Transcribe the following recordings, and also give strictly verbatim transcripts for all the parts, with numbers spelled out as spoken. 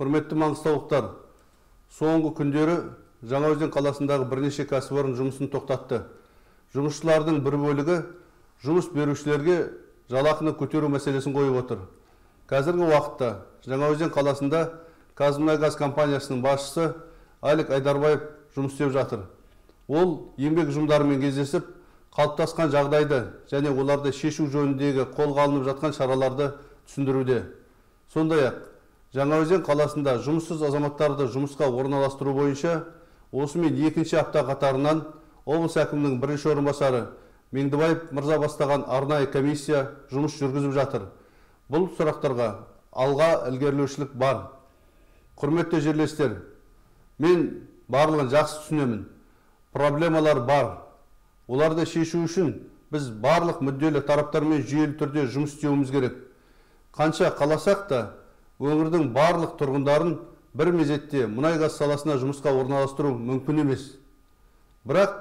Құрметті маңғыстаулықтар, соңғы күндері Жаңаөзен қаласындағы бірнеше кәсіпорын жұмысын тоқтатты. Жұмысшылардың бір бөлігі жұмыс берушілерге жалақыны көтеру мәселесін қойып отыр. Қазіргі уақытта Жаңаөзен қаласында Қазмұнайгаз компаниясының басшысы Алик Айдарбаев жұмыс істеп жатыр. Ол еңбек ұжымдарымен кездесіп, қалыптасқан жағдайды және оларды шешу жөніндегі қолға алынып жатқан шараларды түсіндіруде. Сондай-ақ, Жаңаөзен қаласында жұмыссыз азаматтарды жұмысқа орналастыру бойынша осымен екінші апта қатарынан облыс әкімінің бірінші орынбасары Меңдібаев мырза бастаған арнайы комиссия жұмыс жүргізіп жатыр. Бұл сұрақтарға алға ілгерілеушілік бар. Құрметті жерлестер, мен барлығын жақсы түсінемін. Проблемалар бар. Оларды шешу үшін біз барлық мүдделі тараптармен жүйелі түрде жұмыс істеуіміз керек. Қанша қаласақ та, өңірдің барлық тұрғындарын бір мезетте мұнай-газ саласына жұмысқа орналастыру мүмкін емес. Бірақ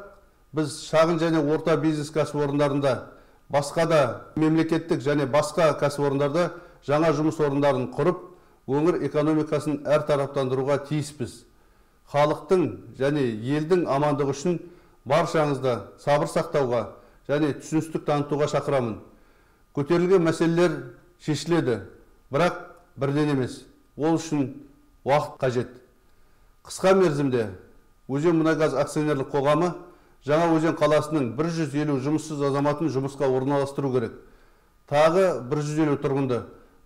біз шағын және орта бизнес кәсіпорындарында, басқа да мемлекеттік және басқа кәсіпорындарда жаңа жұмыс орындарын құрып, өңір экономикасын әр тараптандыруға тиіспіз. Халықтың және елдің амандығы үшін баршаңызды сабыр сақтауға және түсіністік танытуға шақырамын. Көтерілген мәселелер шешіледі, бірақ бірден емес. Ол үшін уақыт қажет. Қысқа мерзімде Өзенмұнайгаз акционерлік қоғамы Жаңаөзен қаласының бір жүз елу жұмыссыз азаматын жұмысқа орналастыру керек. Тағы бір жүз елу тұрғынды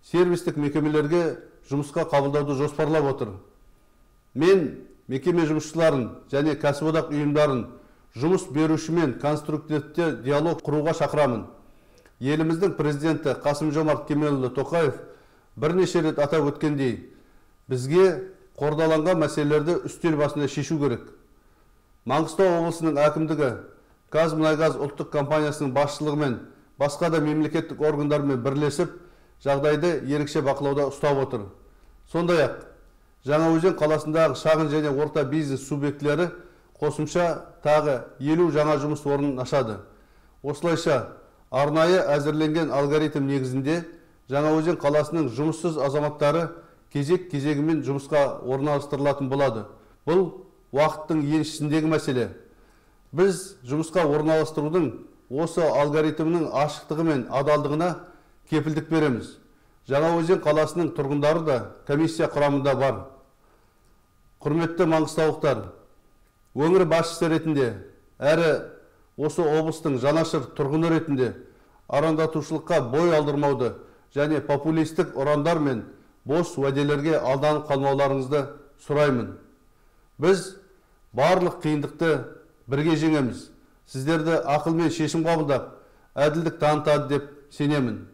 сервистік мекемелерге жұмысқа қабылдауды жоспарлап отыр. Мен мекеме жұмысшыларын және кәсіподақ ұйымдарын жұмыс берушімен конструктивті диалог құруға шақырамын. Еліміздің президенті Қасым-Жомарт Кемелұлы Тоқаев бірнеше рет атап өткендей, бізге қордаланған мәселелерді үстел басында шешу керек. Маңғыстау облысының әкімдігі Қазмұнайгаз ұлттық компаниясының басшылығымен басқа да мемлекеттік органдармен бірлесіп, жағдайды ерекше бақылауда ұстап отыр. Сондай-ақ, Жаңаөзен қаласындағы шағын және орта бизнес субъектілері қосымша тағы елу жаңа жұмыс орнын ашады. Осылайша, арнайы әзірленген алгоритм негізінде Жаңаөзен қаласының жұмыссыз азаматтары кезек-кезегімен жұмысқа орналастырылатын болады. Бұл уақыттың еншісіндегі мәселе. Біз жұмысқа орналастырудың осы алгоритмнің ашықтығы мен адалдығына кепілдік береміз. Жаңаөзен қаласының тұрғындары да комиссия құрамында бар. Құрметті маңғыстаулықтар, өңір басшысы ретінде әрі осы облыстың жанашыр тұрғыны ретінде арандатушылыққа бой алдырмауды және популистік ұрандар мен бос уәделерге алданып қалмауларыңызды сұраймын. Біз барлық қиындықты бірге жеңеміз. Сіздерді ақылмен шешім қабылдап, әділдік танытады деп сенемін.